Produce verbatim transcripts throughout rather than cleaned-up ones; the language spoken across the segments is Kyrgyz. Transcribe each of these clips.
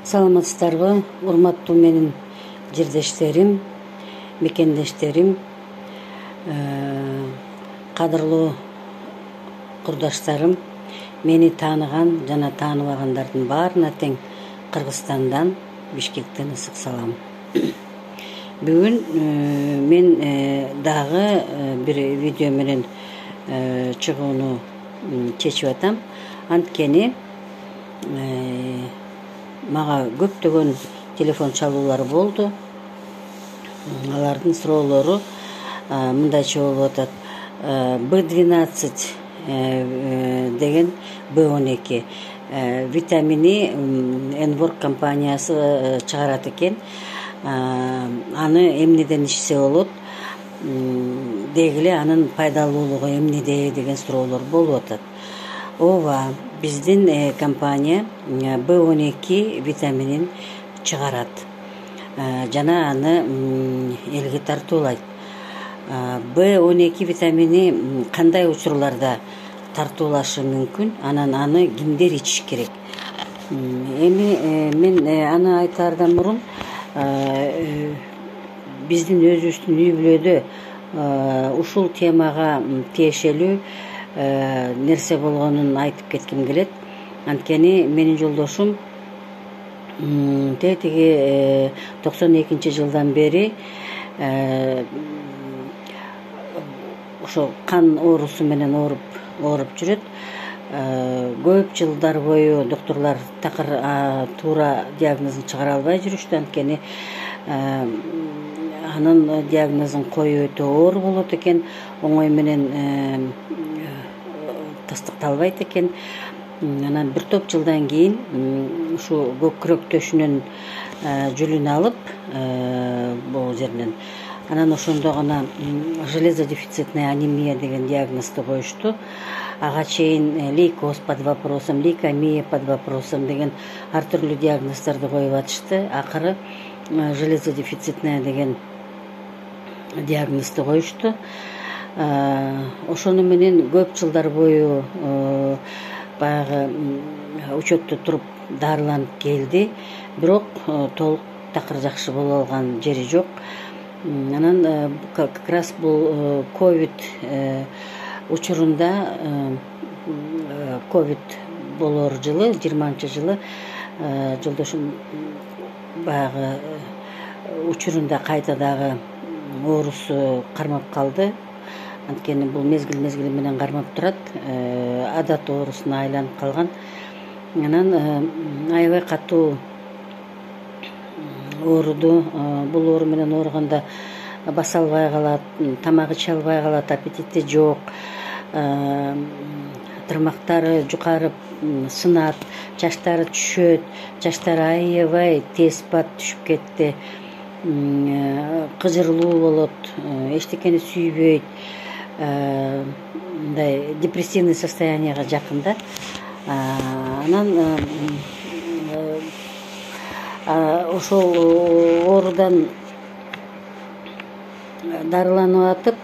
Саламатсыздарбы, урматтуу менин жердештерим, мекендештерим, кадырлуу курдаштарым, мени тааныган жана тааныбагандардын баарына тең Кыргызстандан, Бишкектен ысык салам. Бүгүн мен дагы бир видео менен чыгууну чечип атам. Анткени мага көптөгөн телефон чалуулар болду. Алардын суроолору мындайча болуп атат. бэ двенадцать деген бэ он эки витамини Энворк компаниясы чыгарат экен. Аны эмнеден ичсе болот, деги эле анын пайдалуулугу эмнеде деген суроолор болуп атат. Ооба, биздин компания бэ он эки витаминин чыгарат жана аны элге тартуулайт. бэ он эки витамини кандай учурларда тартуулашы мүмкүн, анан аны кимдер ичиш керек? Эми мен аны айтаардан мурун биздин өзүбүздүн үй бүлөдө ушул темага тиешелүү нерсе болгонун айтып кетким келет. Анткени менин жолдошум тетиги токсон экинчи жылдан бери ошо кан оорусу менен ооруп ооруп жүрөт. Көп жылдар бою доктурлар такыр туура диагнозун чыгара албай жүрүштү. Анткени анын диагнозун коюу өтө оор болот экен, оңой менен тастыкталбайт экен. Анан бир топ жылдан кийин ушу көк күрөк төшүнөн жүлүн алып бул жеринен, анан ошондо гана железодефицитная анемия деген диагнозду коюшту. Ага чейин лейкоз под вопросом, лейкемия под вопросом деген ар түрдүү диагноздорду коюп атышты. Акыры железодефицитная деген диагнозду коюшту. Ошону менен көп жылдар бою баягы учетто туруп дарыланып келди, бирок толук такыр жакшы боло алган жери жок. Анан как раз бул ковид учурунда, ковид болор жылы, жыйырманчы жылы жолдошум баягы учурунда кайта дагы оорусу кармап калды. Анткени бул мезгил мезгили менен кармап турат, адат оорусуна айланып калган. Анан аябай катуу ооруду. Бул оору менен ооруганда баса албай калат, тамак иче албай калат, аппетити жок, тырмактары жукарып сынат, чачтары түшөт, чачтары аябай тез пат түшүп кетти, кыжырлуу болот, эчтекени сүйбөйт, мындай депрессивный состоянияга жакын да. Анан ошол оорудан дарыланып атып,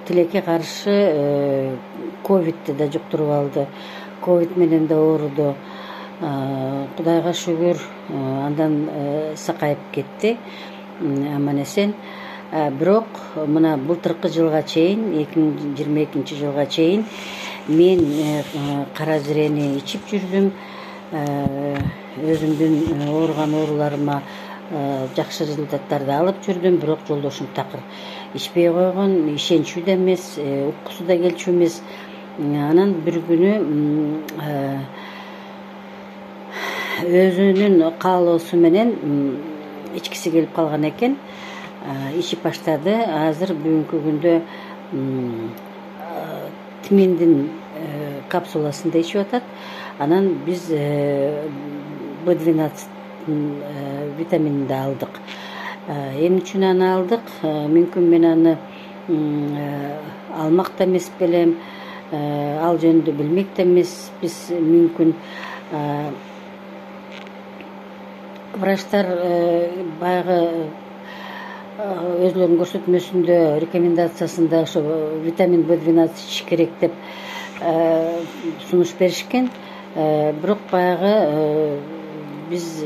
тилекке каршы ковидти да жуктуруп алды. Ковид менен да ооруду. Кудайга шүгүр, андан сакайып кетти, аман эсен. Бирок мына былтыркы жылга чейин, эки миң жыйырма экинчи жылга чейин мен кара зрени ичип жүрдүм. Өзүмдүн ооруган ооруларыма жакшы результаттарды алып жүрдүм, бирок жолдошум такыр ичпей койгон, ишенчүү да эмес, уккусу да келчү эмес. Анан бир күнү өзүнүн каалоосу менен ичкиси келип калган экен, ичип баштады. Азыр бүгүнкү күндө тиминдин капсуласында ичип атат. Анан биз бэ двенадцать витаминин да алдык. Эмне үчүн аны алдык? Мүмкүн мен аны алмак да эмес белем, ал жөнүндө билмек да эмеспиз. Мүмкүн врачтар баягы өзүлөрүнүн көрсөтмөсүндө, рекомендациясында ошо витамин бэ двенадцать ичиш керек деп сунуш беришкен. бирок баягы биз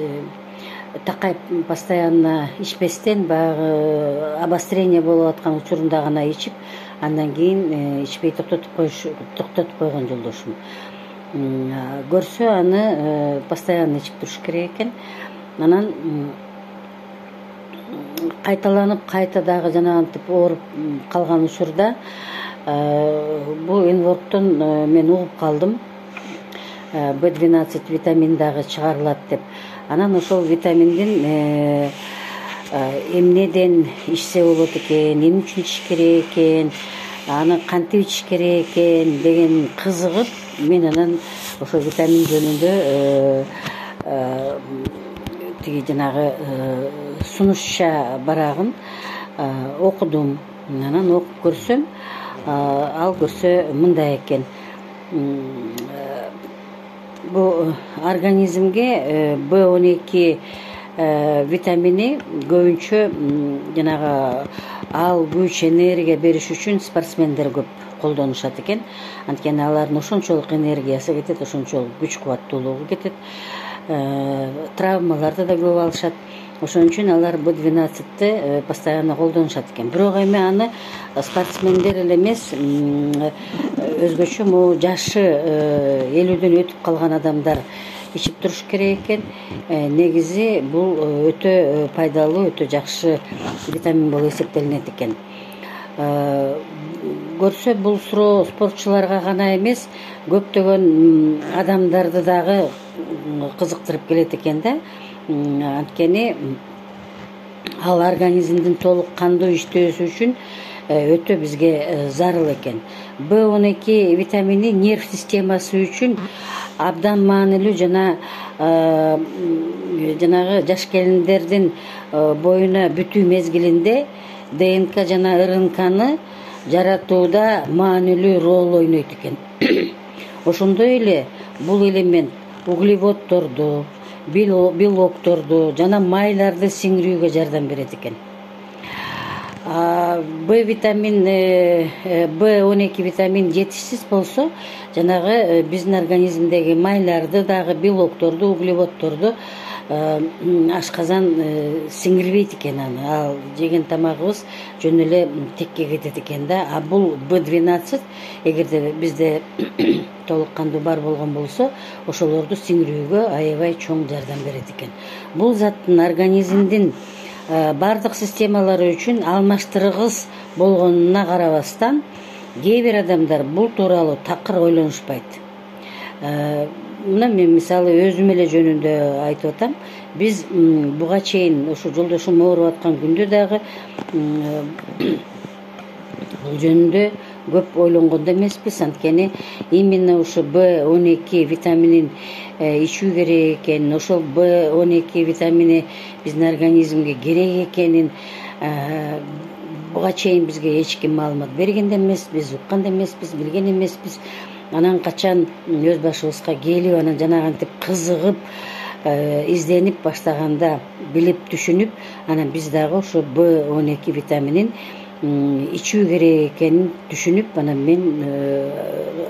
такай постоянно ичпестен баягы обострение болуп аткан учурунда гана ичип, андан кийин ичпей токтотуп коюш токтотуп койгон жолдошум. Көрсө аны постоянно ичип туруш керек экен. Анан кайталанып кайта дагы жанагынтип ооруп калган учурда бул энворктон мен угуп калдым. бэ двенадцать витамин дагы чыгарылат деп. Анан ошол витаминдин эмнеден ичсе болот экен, эмне үчүн ичиш керек экен, аны кантип ичиш керек экен деген кызыгып, мен анан ошол витамин жөнүндө тиги жанагы сунушча барагын окудум. Анан окуп көрсөм, ал көрсө мындай экен: бул организмге бэ он эки витамини көбүнчө жанагы ал күч, энергия бериш үчүн спортсмендер көп колдонушат экен. Анткени алардын ошончолук энергиясы кетет, ошончолук күч кубаттуулугу кетет, травмаларды да көп алышат. Ошон үчүн алар бэ двенадцатьты постоянно колдонушат экен. Бирок эми аны спортсмендер эле эмес, өзгөчө могу жашы элүүдөн өтүп калган адамдар ичип туруш керек экен. Негизи бул өтө пайдалуу, өтө жакшы витамин болуп эсептелинет экен. Көрсө бул суроо спортчуларга гана эмес, көптөгөн адамдарды дагы кызыктырып келет экен да. Анткени ал организмдин толук кандуу иштөөсү үчүн өтө бизге зарыл экен. бэ он эки витамини нерв системасы үчүн абдан маанилүү жана жанагы жаш келиндердин боюна бүтүү мезгилинде ДНК жана РНКны жаратууда маанилүү роль ойнойт экен. Ошондой эле бул элемент углеводдорду, белокторду жана майларды сиңирүүгө жардам берет экен. Б витамин, бэ он эки витамин жетишсиз болсо, жанагы биздин организмдеги майларды дагы, белокторду, углеводдорду ашказан сиңирбейт экен аны. Ал жеген тамагыбыз жөн эле текке кетет экен да. А бул бэ двенадцать эгерде бизде толук кандуу бар болгон болсо, ошолорду сиңирүүгө аябай чоң жардам берет экен. Бул заттын организмдин бардык системалары үчүн алмаштыргыс болгонуна карабастан, кээ бир адамдар бул тууралуу такыр ойлонушпайт. Мына мен мисалы өзүм эле жөнүндө айтып атам. Биз буга чейин ошо жолдошум ооруп аткан күндө дагы бул жөнүндө көп ойлонгон да эмеспиз. Анткени именно ошо бэ он эки витаминин ичүү керек экен, ошол бэ он эки витамини биздин организмге керек экенин буга чейин бизге эч ким маалымат берген да эмеспиз, уккан да эмеспиз, билген эмеспиз. Анан качан өз башыбызга келип, анан жанагынтип кызыгып, изденип баштаганда, билип түшүнүп, анан биз дагы ошо бэ он эки витаминин ичүү керек экенин түшүнүп, анан мен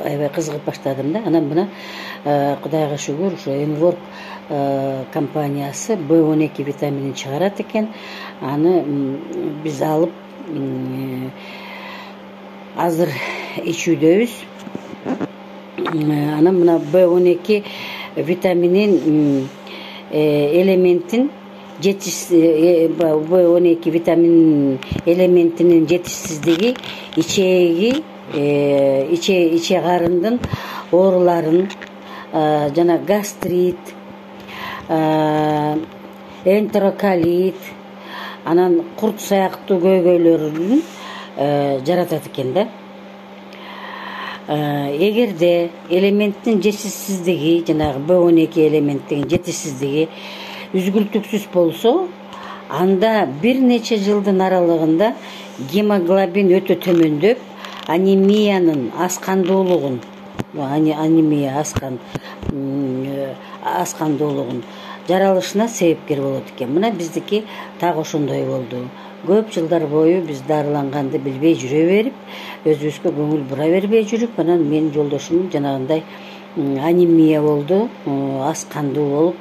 аябай кызыгып баштадым да. Анан мына Кудайга шүгүр, ошо Энворк компаниясы бэ он эки витаминин чыгарат экен. Аны биз алып азыр ичүүдөбүз. Анан мына бэ он эки витаминин элементин жетишсиз, бэ он эки витамин элементинин жетишсиздиги ичеги, иче иче карындын ооруларын, жана гастрит, энтероколит, анан курт сыяктуу көйгөйлөрүн жаратат экен да. Эгерде элементтин жетишсиздиги, жанагы бэ он эки элементтин жетишсиздиги үзгүлтүксүз болсо, анда бир нече жылдын аралыгында гемоглобин өтө төмөндөп, анемиянын аскандуулугун, анемия аскан аскандуулугун жаралышына себепкер болот экен. Мына биздики так ошондой болду. Көп жылдар бою биз дарыланганды билбей жүрө берип, өзүбүзгө көңүл бура бербей жүрүп, анан менин жолдошум жанагындай анемия болду, аз кандуу болуп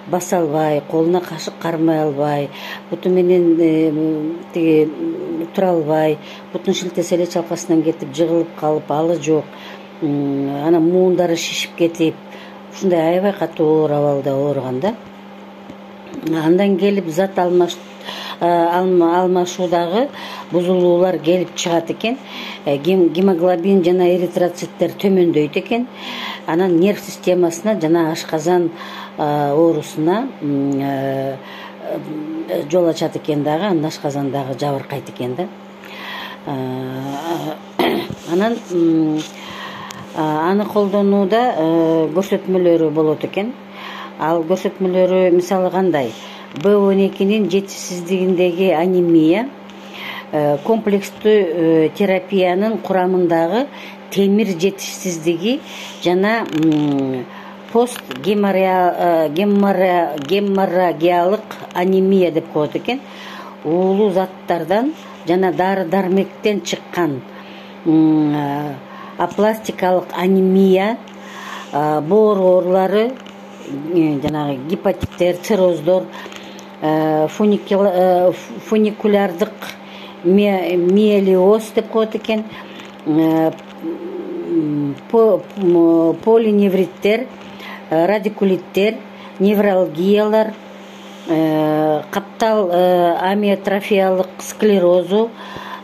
баса албай, колуна кашык кармай албай, буту менен тиги тура албай, бутун шилтесе эле чалкасынан кетип жыгылып калып алы жок, анан муундары шишип кетип, ушундай аябай катуу оор абалда ооруган да. Андан келип зат алмаш алмашуудагы бузулуулар келип чыгат экен, гемоглобин жана эритроциттер төмөндөйт экен, анан нерв системасына жана ашказан оорусуна жол ачат экен дагы, анан ашказан дагы жабыркайт экен да. Анан аны колдонууда көрсөтмөлөрү болот экен. Ал көрсөтмөлөрү мисалы кандай? Б он экинин жетишсиздигиндеги анемия комплекстүү терапиянын курамындагы темир жетишсиздиги жана пост геморрагиялык анемия деп коет экен. Уулуу заттардан жана дары дармектен чыккан апластикалык анемия, боор оорулары, жанагы гепатиттер, цирроздор, фуникулярдык миелиоз деп коет экен, полиневриттер, радикулиттер, невралгиялар, каптал амиотрофиялык склерозу,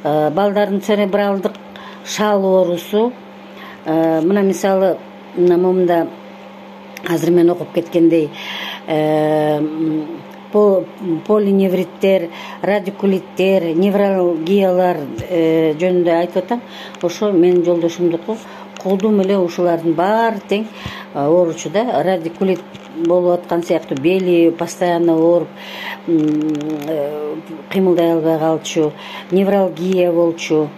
балдардын церебралдык шал оорусу. Мына мисалы момунда азыр мен окуп кеткендей полиневриттер, радикулиттер, невралгиялар жөнүндө айтып атам. Ошо менин жолдошумдуку колдум эле ушулардын баары тең ооручу да. Радикулит болуп аткан сыяктуу бели постоянно ооруп кыймылдай албай калчу, невралгия болчу,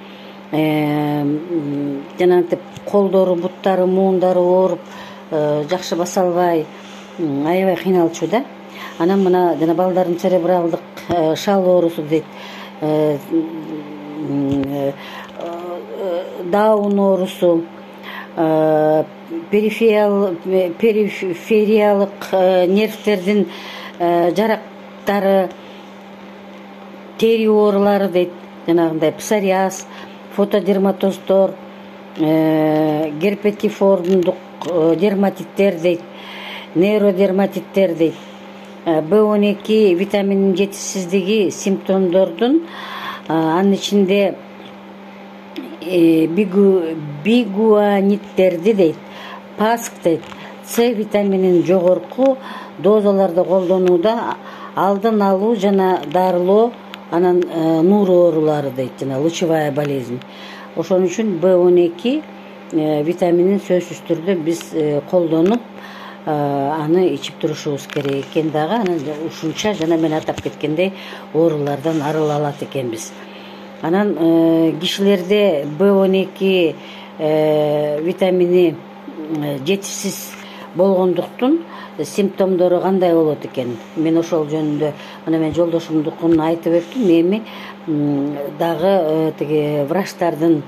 жанагынтип колдору, буттары, муундары ооруп жакшы баса албай аябай кыйналчу да. Анан мына жана балдардын церебралдык шал оорусу дейт, даун оорусу, перифериялык нервтердин жарактары, тери оорулары дейт, жанагындай псориаз, фотодерматоздор, герпетифордундук дерматиттер дейт, нейродерматиттер дейт. Б он эки витаминин жетишсиздиги симптомдордун анын ичинде бигуаниттерди дейт, паск дейт, С витаминин жогорку дозаларда колдонууда алдын алуу жана дарылоо, анан нур оорулары дейт, жана лучевая болезнь. Ошон үчүн Б он эки витаминин сөзсүз түрдө биз колдонуп аны ичип турушубуз керек экен дагы. Анан ушунча жана мен атап кеткендей оорулардан арыла алат экенбиз. Анан кишилерде Б он эки витамини жетишсиз болгондуктун симптомдору кандай болот экен? Мен ошол жөнүндө мына мен жолдошумдукун айтып өттүм. Эми дагы тиги врачтардын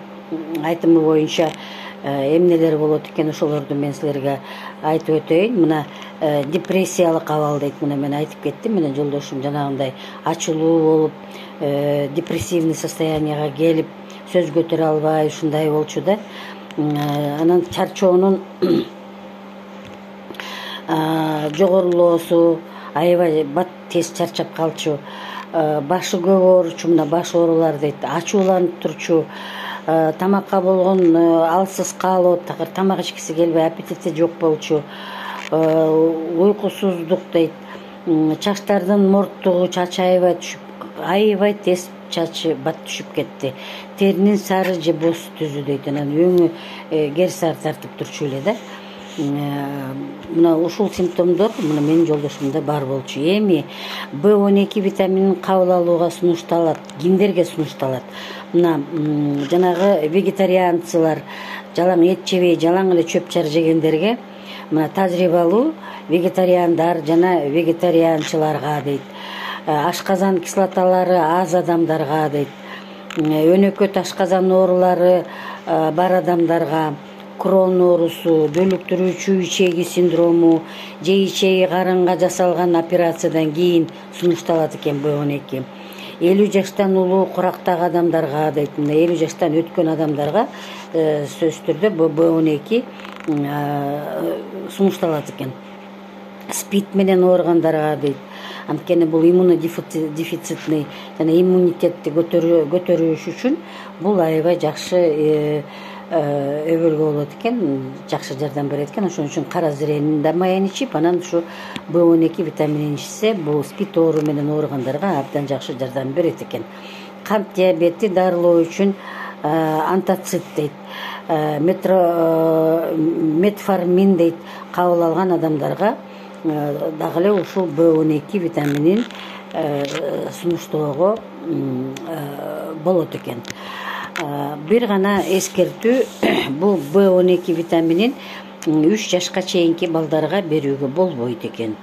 айтымы боюнча эмнелер болот экен, ошолорду мен силерге айтып өтөйүн. Мына депрессиялык абал дейт. Мына мен айтып кеттим. Менен жолдошум жанагындай ачылуу болуп, депрессивный состоянияга келип, сөз көтөрө албай ушундай болчу да. Анан чарчоонун жогорулоосу, аябай бат тез чарчап калчу, башы көп ооручу, мына баш оорулар дейт, ачууланып турчу, тамакка болгон алсыз каалоо, такыр тамак ичкиси келбей, аппетити жок болчу, уйкусуздук дейт, чачтардын морттугу, чачы аябай түшүп, аябай тез чачы бат түшүп кетти, теринин сары же боз түзү дейт, анан өңү кер сары тартып турчу эле да. Мына ушул симптомдор мына менин жолдошумда бар болчу. Эми Б он эки витаминин кабыл алууга сунушталат, кимдерге сунушталат? Мына жанагы вегетарианцылар, жалаң эт жебей, жалаң эле чөп чар жегендерге, мына тажрыйбалуу вегетариандар жана вегетарианчыларга дейт. Ашказан кислоталары аз адамдарга дейт. Өнөкөт ашказан оорулары бар адамдарга, Крон оорусу, бөлүктүрүүчү ичеги синдрому же ичеги карынга жасалган операциядан кийин сунушталат экен Б он эки. элүү жаштан улуу курактагы адамдарга дейт, мына элүү жаштан өткөн адамдарга сөзсүз түрдө Б он эки сунушталат экен. СПИД менен ооругандарга дейт. Анткени бул иммунодефицитный жана иммунитетти көтөрүш үчүн бул аябай жакшы өбөлгө болот экен, жакшы жардам берет экен. Ошон үчүн кара зренин да майын ичип, анан ушу Б он эки витаминин ичсе, бул СПИД оору менен ооругандарга абдан жакшы жардам берет экен. Кант диабети дарылоо үчүн антоцит дейт, метформин дейт, кабыл алган адамдарга дагы эле ушул Б он эки витаминин сунуштоого болот экен. Бир гана эскертүү, бул Б он эки витаминин үч жашка чейинки балдарга берүүгө болбойт экен.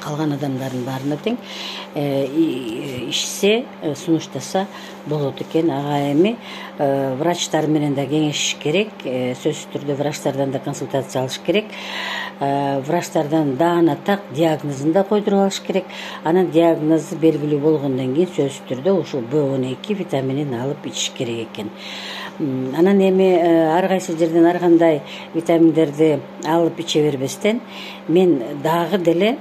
Калган адамдардын баарына тең ичсе, сунуштаса болот экен. Ага эми врачтар менен да кеңешиш керек, сөзсүз түрдө врачтардан да консультация алыш керек. Врачтардан даана так диагнозун да койдуруп алыш керек. Анан диагнозу белгилүү болгондон кийин сөзсүз түрдө ушул Б он эки витаминин алып ичиш керек экен. Анан эми ар кайсы жерден ар кандай витаминдерди алып иче бербестен, мен дагы деле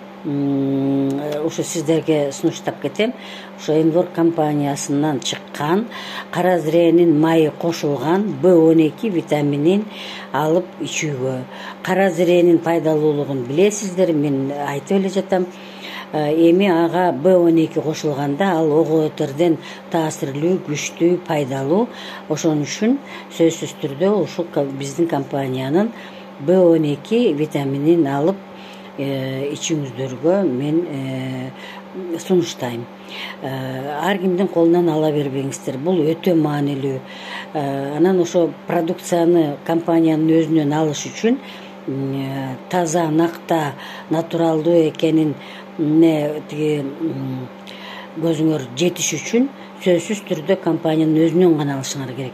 ушу сиздерге сунуштап кетем. Ушу Энвор компаниясынан чыккан кара зренин майы кошулган Б он эки витаминин алып ичүүгө. Кара зренин пайдалуулугун билесиздер, мен айтып эле жатам. Эми ага Б он эки кошулганда ал ого өтөрдөн таасирлүү, күчтүү, пайдалуу. Ошон үчүн сөзсүз түрдө ушул биздин компаниянын Б он эки витаминин алып ичиңиздерге мен сунуштайм. Ар кимдин колунан ала бербеңиздер, бул өтө маанилүү. Анан ошо продукцияны компаниянын өзүнөн алыш үчүн таза, накта, натуралдуу экенин тиги көзүңөр жетиш үчүн сөзсүз түрдө компаниянын өзүнөн гана алышыңар керек.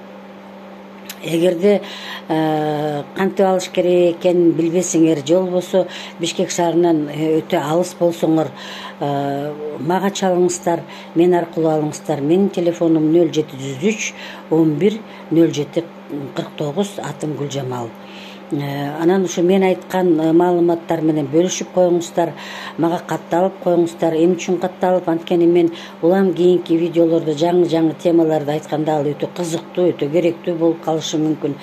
Эгерде кантип алыш керек экенин билбесеңер, же болбосо Бишкек шаарынан өтө алыс болсоңор, мага чалыңыздар, мен аркылуу алыңыздар. Менин телефонум нөл жети жүз үч он бир нөл жети кырк тогуз, атым Гүлжамал. Анан ушу мен айткан маалыматтар менен бөлүшүп коюңуздар, мага катталып коюңуздар. Эмне үчүн катталып? Анткени мен улам кийинки видеолордо жаңы-жаңы темаларды айтканда ал өтө кызыктуу, өтө керектүү болуп калышы мүмкүн.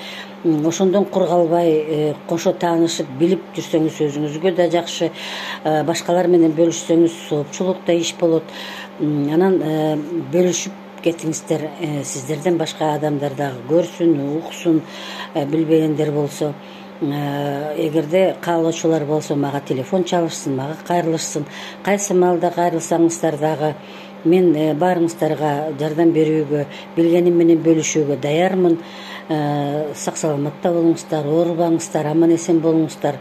Ошондон кур калбай кошо таанышып, билип жүрсөңүз өзүңүзгө да жакшы, башкалар менен бөлүшсөңүз соопчулук да иш болот. Анан бөлүшүп кетиңиздер, сиздерден башка адамдар дагы көрсүн, уксун, билбегендер болсо. Эгерде каалоочулар болсо мага телефон чалышсын, мага кайрылышсын. Кайсы маалда кайрылсаңыздар дагы мен баарыңыздарга жардам берүүгө, билгеним менен бөлүшүүгө даярмын. Сак саламатта болуңуздар, оорубаңыздар, аман эсен болуңуздар.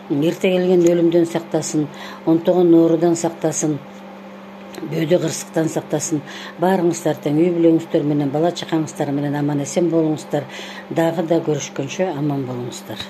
Эрте келген өлүмдөн сактасын, онтогон оорудан сактасын, бөөдө кырсыктан сактасын. Баарыңыздар тең үй бүлөңүздөр менен, бала чакаңыздар менен аман эсен болуңуздар. Дагы да көрүшкөнчө аман болуңуздар.